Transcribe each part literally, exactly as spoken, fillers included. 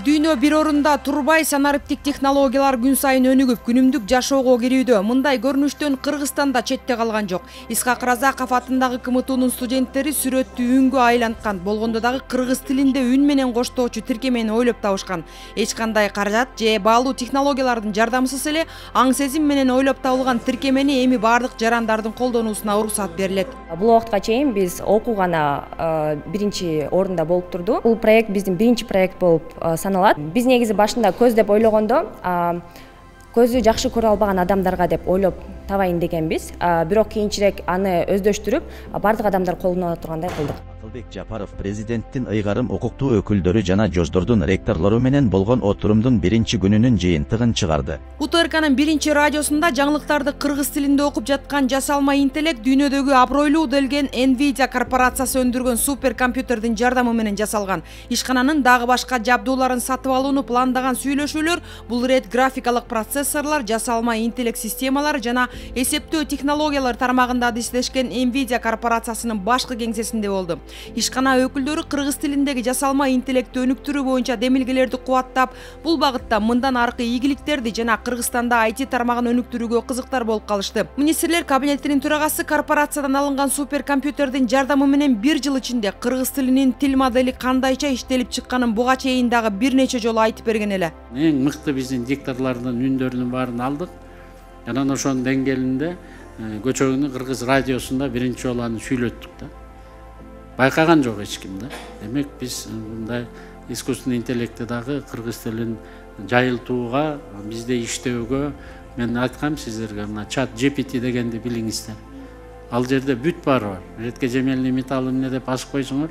Дүйнө бир орунда турбай, санариптик технологиялар күн сайын өнүгүп, күнүмдүк жашоого кирүүдө. Мындай көрүнүштөн Кыргызстанда четте калган жок. Исхак Разаков атындагы К М Тунун студенттери сүрөттүү үнгө айланткан. Болгондо дагы кыргыз тилинде үн менен коштоочу тиркемени ойлоп табышкан. Эч кандай каражат же баалуу технологиялардын жардамсыз эле аң сезим менен ойлоп табылган тиркемени эми бардык жарандардын колдонуусуна уруксат берилет. Бул убакытка чейин биз окуу гана биринчи орунда болуп турду. Бул проект биздин биринчи проект болуп саналат. Биз негизи башында көз деп ойлогондо көзү жакшы көрө албаган адамдарга деп ойлоп табайын дегенбиз. Бирок кийинчерээк аны өздөштүрүп, бардык адамдар колдоно тургандай кылдык. Акылбек Жапаров президенттин ыйгарым укуктуу өкүлдөрү жана жоздордун ректорлору менен болгон отурумдун биринчи күнүнүн жыйынтыгын чыгарды. У Т Р К'нын биринчи радиосунда жаңылыктарды кыргыз тилинде окуп жаткан жасалма интеллект дүйнөдөгү абройлуу делген Nvidia корпорациясы өндүргөн суперкомпьютердин жардамы менен жасалган. Ишкананын дагы башка жабдууларын сатып алууну пландаган сүйлөшүүлөр бул ирет графикалык процессорлор, жасалма интеллект системалары жана эсептөө технологиялар тармагында адистешкен Nvidia корпорациясынын башкы кеңсесинде болду. Ишкана өкүлдөрү кыргыз тилиндеги жасалма интеллектти өнүктүрүү боюнча демилгелерди кубаттап, бул багытта мындан аркы ийгиликтерди жана Кыргызстанда I T тармагын өнүктүрүүгө кызыктар болуп калышты. Министрлер кабинетинин төрагасы корпорациядан алынган суперкомпьютердин жардамы менен бир жыл ичинде кыргыз тилинин тил модели кандайча иштелип чыкканын буга чейин дагы бир нече жолу айтып берген эле. Эң мыкты биздин дикторлордун үндөрүнүн баарын алдык. Жана ошонун деңгээлинде көчөгүнүн кыргыз радиосунда биринчи жолу аны сүйлөттүк да. Байкаган жок эч ким да. Демек биз мындай искусственный интеллектти дагы кыргыз тилин жайылтууга, бизде иштөөгө мен айткам сиздерге, мына чат G P T дегенди билиңиздер. Ал жерде бүт баары бар. Ретке жемелный металл эмне деп басып койсоңор,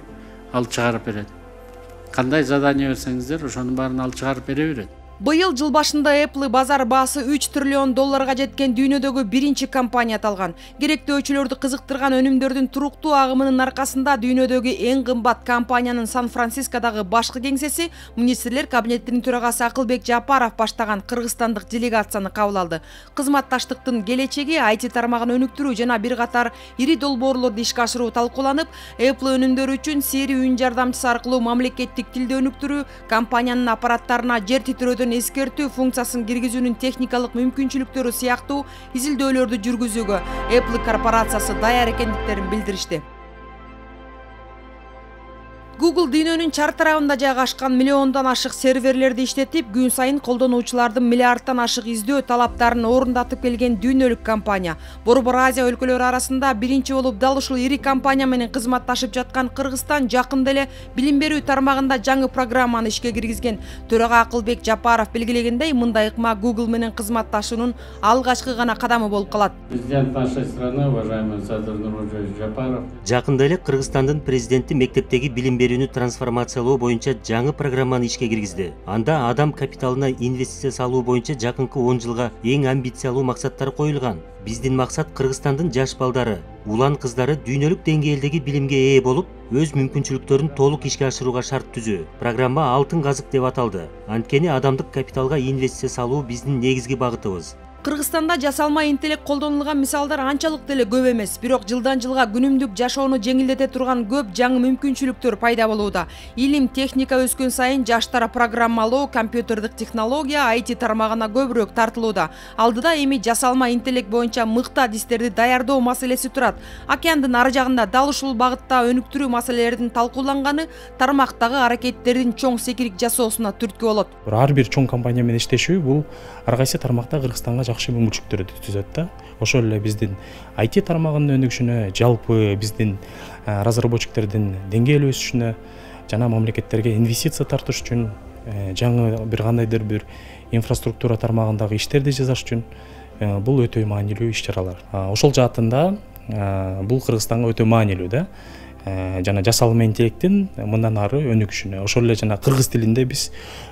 ал чыгарып берет. Кандай задание берсеңиздер, ошонун баарын ал чыгарып бере берет. Быйыл жыл башында Apple базар баасы үч триллион долларга жеткен дүйнөдөгү биринчи компания аталган. Керектөөчүлөрдү кызыктырган өнүмдөрдүн туруктуу агымынын аркасында дүйнөдөгү эң кымбат компаниянын Сан-Францискодагы башкы кеңсеси Министрлер кабинетинин төрагасы Акылбек Жапаров баштаган кыргызстандык делегацияны кабыл алды. Кызматташтыктын келечеги, I T тармагын өнүктүрүү жана бир катар ири долбоорлорду ишке ашыруу талкууланып, Apple өнүмдөрү үчүн Siri үн жардамчысы аркылуу мамлекеттик тилде өнүктүрүү, компаниянын аппараттарына жер титирөөдөн эскертүү функциясын киргизүүнүн техникалык мүмкүнчүлүктөрү сыяктуу изилдөөлөрдү жүргүзүүгө Apple корпорациясы даяр экендиктерин билдиришти. Google дүйнөнүн чар тарабында жайгашкан миллиондон ашык серверлерди иштетип, күн сайын колдонуучулардын миллиардтан ашык издөө талаптарын орундатып келген дүйнөлүк компания. Борбор Азия өлкөлөрү арасында биринчи болуп дал ушул ири компания менен кызматташып жаткан Кыргызстан жакында эле билим берүү тармагында жаңы программаны ишке киргизген. Төрага Акылбек Жапаров белгилегендей, мындай ыкма Google менен кызматташуунун алгачкы гана кадамы болуп калат. Президент нашей страны, уважаемый Садыр Нурбек Жапаров. Жакында эле Кыргызстандын президенти мектептеги билим берүүнү трансформациялоо боюнча жаңы программаны ишке киргизди. Анда адам капиталына инвестиция салуу боюнча жакынкы он жылга эң амбициялуу максаттар коюлган. Биздин максат Кыргызстандын жаш балдары, улан кыздары дүйнөлүк деңгээлдеги билимге ээ болуп, өз мүмкүнчүлүктөрүн толук ишке ашырууга шарт түзүү. Программа алтын казык деп аталды. Анткени адамдык капиталга инвестиция салуу биздин негизги багытыбыз. Кыргызстанда жасалма интеллект колдонулган мисалдар анчалык деле көп эмес, бирок жылдан жылга күнүмдүк жашоону жеңилдете турган көп жаңы мүмкүнчүлүктөр пайда болууда. Илим, техника өскөн сайын жаштар программалоо, компьютердик технология, I T тармагына көбүрөөк тартылууда. Алдыда эми жасалма интеллект боюнча мыкты адистерди даярдоо маселеси турат. Океандын ары жагында дал ушул багытта өнүктүрүү маселелеринин талкууланганы тармактагы аракеттердин чоң секирик жасоосуна түрткү болот. Ар бир чоң компания менен иштешүү бул ар кайсы тармакта Кыргызстанга жакшы мүмкүнчүлүктөрдү түзөт да. Ошол эле биздин I T тармагынын өнүгүшүнө, жалпы биздин разработчиктердин деңгээли өсүшүнө жана мамлекеттерге инвестиция тартыш үчүн, жаңы бир кандайдыр бир инфраструктура тармагындагы иштерди жасаш үчүн бул өтө маанилүү иш-чаралар. Ошол жаатында бул Кыргызстанга өтө маанилүү да. Жана жасалма интеллекттин мындан ары өнүгүшүнө, ошол эле жана кыргыз тилинде биз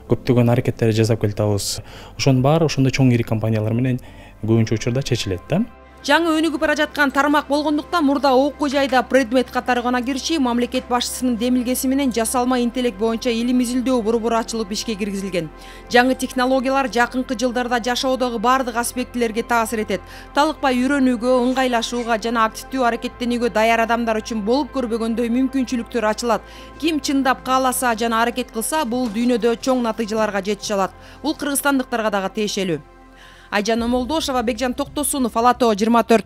көптөгөн аракеттерди жасап келатабыз. Ошонун баары ошондой чоң ири компаниялар менен көбүнчө учурда чечилет да. Жаңы өнүгүп бара жаткан тармак болгондуктан мурда окуу жайда предмет катары гана кириши мамлекет башчысынын демилгеси менен жасалма интеллект боюнча илим изилдөө борбору ачылып ишке киргизилген. Жаңы технологиялар жакынкы жылдарда жашоодогу бардык аспектилерге таасир этет. Талыкпай үйрөнүүгө, ыңгайлашууга жана активдүү аракеттенүүгө даяр адамдар үчүн болуп көрбөгөндөй мүмкүнчүлүктөр ачылат. Ким чындап кааласа жана аракет кылса, бул дүйнөдө чоң натыйжаларга жетише алат. Бул кыргызстандыктарга дагы тиешелүү. Айжан Омолдошова, Бекжан Токтосунов, Ала Тоо жыйырма төрт.